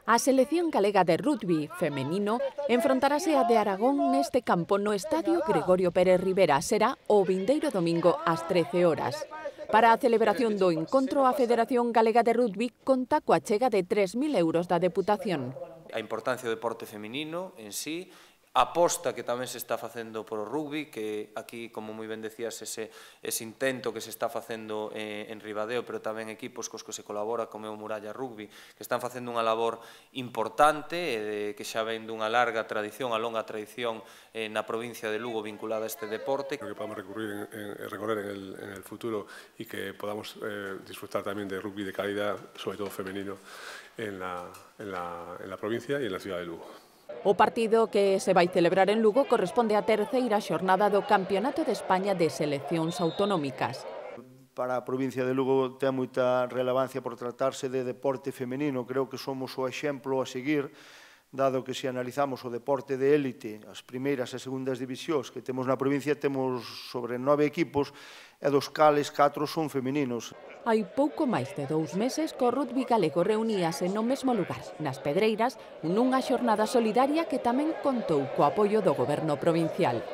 A selección galega de rugby femenino enfrontarase a de Aragón neste campo no Estadio Gregorio Pérez Rivera. Será o vindeiro domingo ás 13 horas. Para a celebración do encontro, a Federación Galega de Rugby conta coa chega de 3.000 euros da Deputación. A importancia do deporte feminino en sí, a aposta que tamén se está facendo por o rugby, que aquí, como moi ben decías, ese intento que se está facendo en Ribadeo, pero tamén equipos cos que se colabora, como o Muralla Rugby, que están facendo unha labor importante, que xa ven dunha larga tradición, a longa tradición na provincia de Lugo vinculada a este deporte. Que podamos recorrer en el futuro y que podamos disfrutar también de rugby de calidad, sobre todo femenino, en la provincia y en la ciudad de Lugo. O partido que se vai celebrar en Lugo corresponde á terceira xornada do Campeonato de España de Seleccións Autonómicas. Para a provincia de Lugo ten moita relevancia por tratarse de deporte femenino. Creo que somos o exemplo a seguir, dado que se analizamos o deporte de élite, as primeiras e segundas divisións que temos na provincia, temos sobre 9 equipos e dos cales 4 son femeninos. Hai pouco máis de 2 meses que o rugby galego reuníase no mesmo lugar, nas Pedreiras, nunha xornada solidaria que tamén contou co apoio do Goberno provincial.